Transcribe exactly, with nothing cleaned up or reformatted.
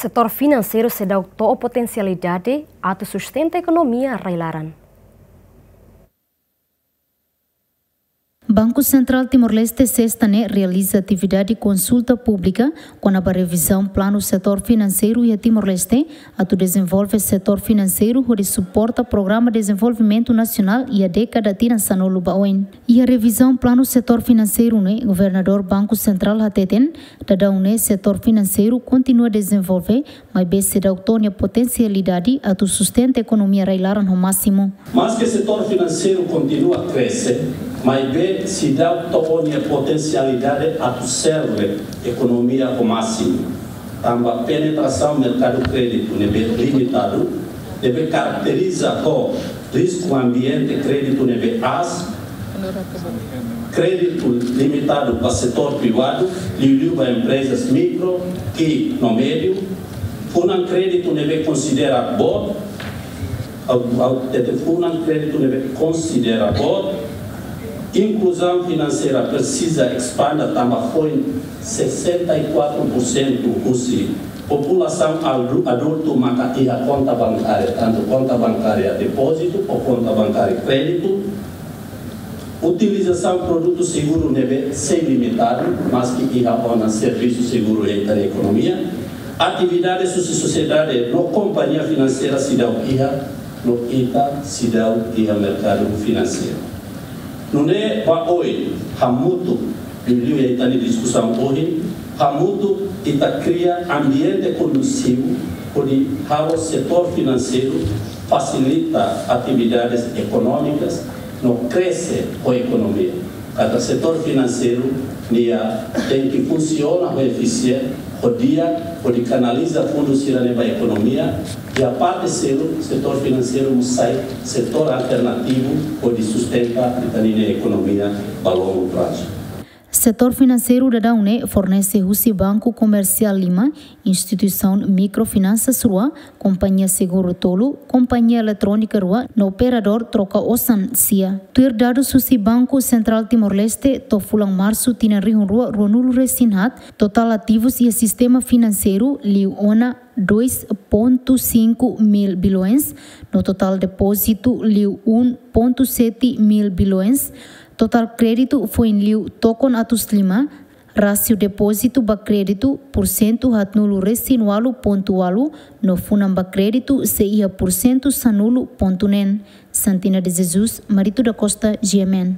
Setór finanseiru seidauk to'o potensialidade atu sustenta ekonomia rai-laran. Banku Sentrál Timor-Leste, SESTA ne'e realiza atividade konsulta públika kona-ba revizaun planu setór finanseiru iha Timor-Leste, atu dezenvolve setór finanseiru hodi suporta Programa Dezenvolvimentu Nasionál iha dékada tinan sanulu ba oin. Iha revizaun planu setór finanseiru ne'e, Governadór Banku Sentrál hateten, daudaun ne'e setór finanseiru kontinua dezenvolve, maibé seidauk to'o nia potensialidade atu sustenta ekonomia rai-laran ho másimu. Maske setór finanseiru kontinua krese, maibé seidauk to'o nia potensialidade atu serve ekonomia ho másimu. Tanba penetrasaun merkadu kréditu ne'ebé limitadu, ne'ebé karakteriza ho risku ambiente kréditu ne'ebé aas, kréditu limitadu ba setór privadu, liuliu ba emprezas mikro, ki'ik no médiu, funan kréditu ne'ebé konsidera boot, au, au, tete funan kréditu ne'ebé konsidera boot, inkluzaun finanseira presiza espanda tanba foin sessenta e quatro por cento husi populasaun adultu maka iha konta bankária, tantu konta bankária depózitu ou konta bankária kréditu. Utilizasaun produtu seguru ne'ebé sei limitadu, maske iha ona servisu seguru iha ita-nia ekonomia. Atividade husi sosiedade no kompañia finanseira seidauk iha, no ita seidauk iha merkadu finanseiru. Nune'e ba oin, hamutuk, liuliu iha ita-nia diskusaun ohin, hamutuk ita kria ambiente kondusivu hodi halo setór finanseiru fasilita atividades ekonómikas no krese ho ekonomia. Katak setór finanseiru nia tenke funsiona ho efisiente, ho di'ak, hodi kanaliza fundu sira-ne'e ba ekonomia, i iha parte seluk, setór finanseiru mós sai setór alternativu hodi sustenta ita-nia ekonomia ba longu prazu. Setór finanseiru daudaun ne'e fornese husi Banku Komersiál lima, instituisaun mikrofinansa rua, kompañia seguru tolu, kompañia eletrónika rua, no operadór troka osan sia. Tuir dadus husi Banku Sentrál Timor-Leste, to'o fulan Marsu tinan rihun rua ruanulu resin haat, totál ativus iha sistema finanseiru liu ona dois ponto cinco mil bilhões, no totál depózitu liu um ponto sete mil bilhões, totál kréditu foin liu tokon atus lima, rásiu depózitu ba kréditu pursentu haatnulu resin ualu pontu ualu, no funan ba kréditu sei iha pursentu sanulu pontu neen. Santina de Jesus, Marito da Costa, G M N.